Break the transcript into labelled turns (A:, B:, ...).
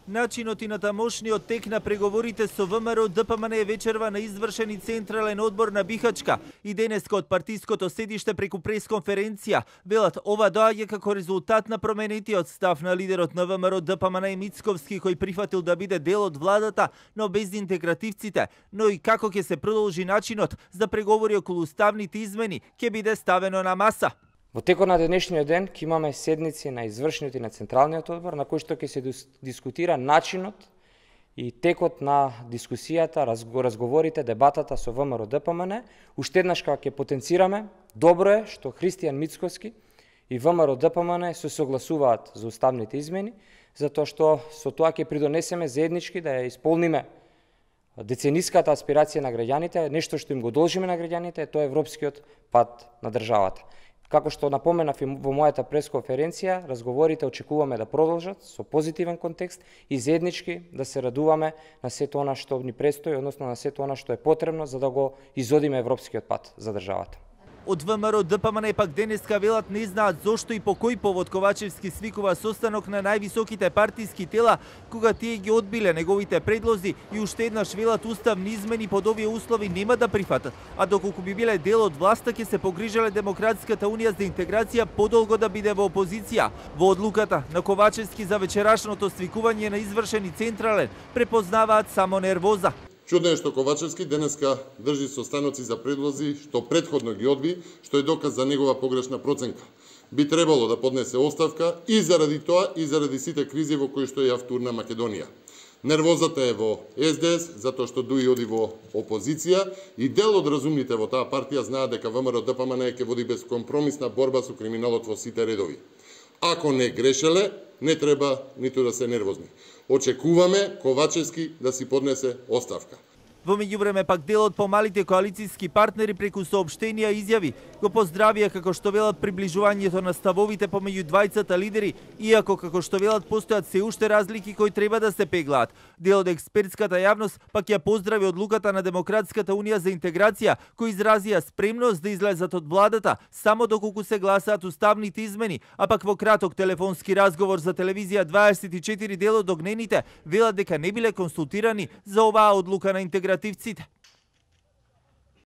A: Начинот и натамошниот тек на преговорите со ВМРО ДПМН е вечерва на извршени Централен одбор на Бихачка и денеска од партиското седиште преку пресконференција велат ова доаѓа како резултат на променетиот став на лидерот на ВМРО ДПМН Мицковски кој прифатил да биде дел од владата, но без интегративците, но и како ќе се продолжи начинот за преговори околу уставните измени ќе биде ставено на маса.
B: Во текот на денешниот ден ќе имаме седници на извршниот и на Централниот одбор на кој што ќе се дискутира начинот и текот на дискусијата, разговорите, дебатата со ВМРО ДПМН. Уште еднаш ќе потенцираме, добро е што Христијан Мицковски и ВМРО ДПМН се согласуваат за уставните измени, затоа што со тоа ќе придонесеме заеднички да ја исполниме децениската аспирација на граѓаните, нешто што им го должиме на граѓаните, тоа е европскиот пат на државата. Како што напоменав и во мојата пресконференција, разговорите очекуваме да продолжат со позитивен контекст и заеднички да се радуваме на сето она што ни престои, односно на сето она што е потребно за да го изодиме европскиот пат за државата.
A: Од ВМРО ДПМН пак денеска велат не знаат зошто и по кој повод Ковачевски свикува состанок на највисоките партиски тела, кога тие ги одбиле неговите предлози и уште еднаш велат уставни измени под овие услови нема да прифатат, а доколку би биле дел од власта ќе се погрижале Демократската унија за интеграција подолго да биде во опозиција. Во одлуката на Ковачевски за вечерашното свикување на извршени Централен препознаваат само нервоза.
C: Чудно е што Ковачевски денеска држи состаноци за предлози што претходно ги одби, што е доказ за негова погрешна проценка. Би требало да поднесе оставка и заради тоа и заради сите кризи во кои што ја втурна Македонија. Нервозата е во СДС, затоа што дуи оди во опозиција и дел од разумните во таа партија знаат дека ВМРО ДПМН ќе води безкомпромисна борба со криминалот во сите редови. Ако не грешеле, не треба ниту да се нервозни. Очекуваме Ковачевски да си поднесе оставка.
A: Во меѓувреме пак дел од помалите коалицијски партнери преку соопштенија изјави го поздравија како што велат приближувањето на ставовите помеѓу двајцата лидери, иако како што велат постојат се уште разлики кои треба да се пеглаат. Дел од експертската јавност пак ја поздрави одлуката на Демократската унија за интеграција, кои изразија спремност да излезат од владата само доколку се гласаат уставните измени, а пак во краток телефонски разговор за телевизија 24 дел од огнените велат дека не биле консултирани за оваа одлука на интеграција.